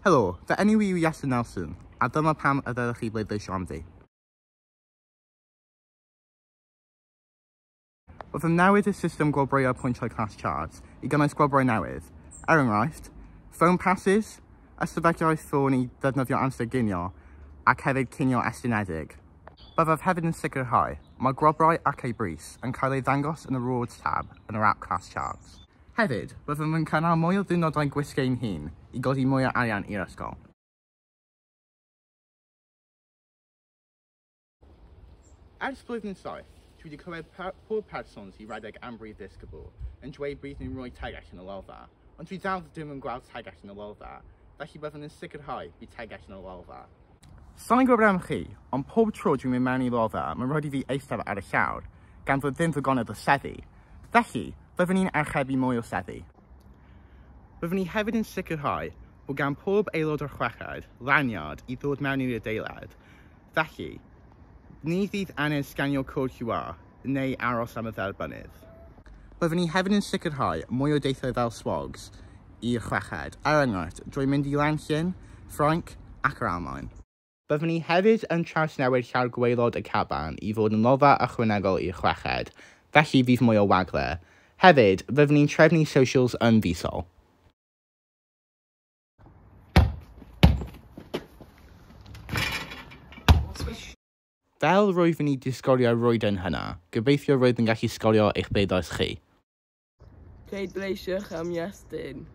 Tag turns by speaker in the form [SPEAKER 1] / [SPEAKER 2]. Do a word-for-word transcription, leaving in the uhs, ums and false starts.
[SPEAKER 1] Helo, fy enw i yw Iestyn Nelson, a dyma pam y ddylech chi bleidleisio am fi. Byddwn newid y system gwobrwyo pwyntiau Class Charge i gynnwys gwobrau newydd. Er enghraifft, phone passes, ystafelloedd ffôn i ddefnyddio amser ginio, ac hefyd cinio estynedig. Byddaf hefyd yn sicrhau mae gwobrau ac eu bris yn cael ei ddangos yn y Rewards tab yn yr app Class Charge. Hefyd, byddwn yn cynnal mwy o ddiwrnodau gwisgo ein hun i godi mwy o arian i'r ysgol. Ers blwyddyn saith, dwi wedi clywed per pob person sy'n rhedeg am brif ddisgybl yn dweud bydd nhw'n rhoi tegell yn y lolfa, ond dwi dal ddim yn gweld tegell yn y lolfa, felly byddwn yn sicrhau bydd tegell yn y lolfa. Sa i'n gwybod am chi, ond pob tro dwi'n mynd mewn i lolfa, mae'n rhaid i fi eistedd ar y llawr, gan fod ddim ddigonedd o seddi. Felly, byddwn ni'n archebu mwy o seddi. Byddwn ni hefyd yn sicrhau bod gan pob aelod o'r chweched lanyard i ddod mewn i'r adeilad. Felly, ni fydd angen sganio cod Q R neu aros am y dderbynnydd. Byddwn ni hefyd yn sicrhau mwy o deithiau fel swogs i'r chweched, er enghraifft, drwy mynd i Lanllyn, Ffrainc ac yr Almaen. Byddwn ni hefyd yn trawsnewid llawr gwaelod y caban i fod yn lolfa ychwanegol i'r chweched, felly fydd mwy o wagle. Hefyd, byddwn ni'n trefnu socials yn fisol. Fel roeddwn i 'di sgorio roedden hynna, gobeithio roedd yn gallu sgorio eich bleidlais chi.
[SPEAKER 2] Pleidleisiwch am Iestyn.